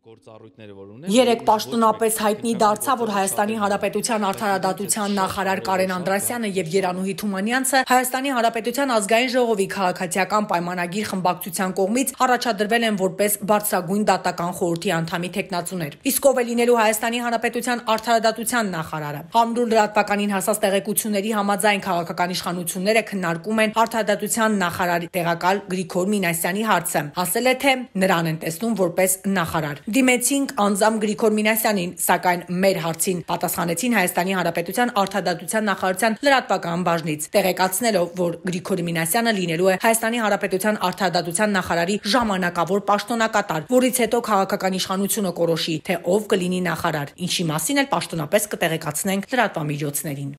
Երեկ պաշտոնապես հայտնի դարձավ, որ Հայաստանի Հանրապետության արդարադատության նախարար Կարեն Անդրասյանը եւ Երանուհի Թումանյանցը Հայաստանի Հանրապետության ազգային ժողովի քաղաքացիական պայմանագիր խմբակցության կողմից առաջադրվել են որպես բարձրագույն դատական խորհրդի անդամի թեկնածուներ։ Իսկ ով է լինելու Հայաստանի Հանրապետության արդարադատության նախարարը։ Համրուլ լրատվականին հասած տեղեկությունների համաձայն քաղաքական իշխանությունները քննարկում են արդարադատության նախարարի տեղակալ Գրիգոր Մինասյանի հարցը, ասել է, թե նրան են տեսնում որպես նախարար։ Դիմեցինք անձամբ Գրիգոր Մինասյանին, սակայն մեր հարցին պատասխանեցին Հայաստանի Հանրապետության արդարադատության նախարարության լրատվական բաժնից, տեղեկացնելով, որ Գրիգոր Մինասյանը լինելու է Հայաստանի Հանրապետության արդարադատության նախարարի ժամանակավոր պաշտոնակատար, որից հետո քաղաքական իշխանությունը կորոշի, թե ով կլինի նախարար, ինչի մասին էլ պաշտոնապես կտեղեկացնենք լրատվամիջոցներին։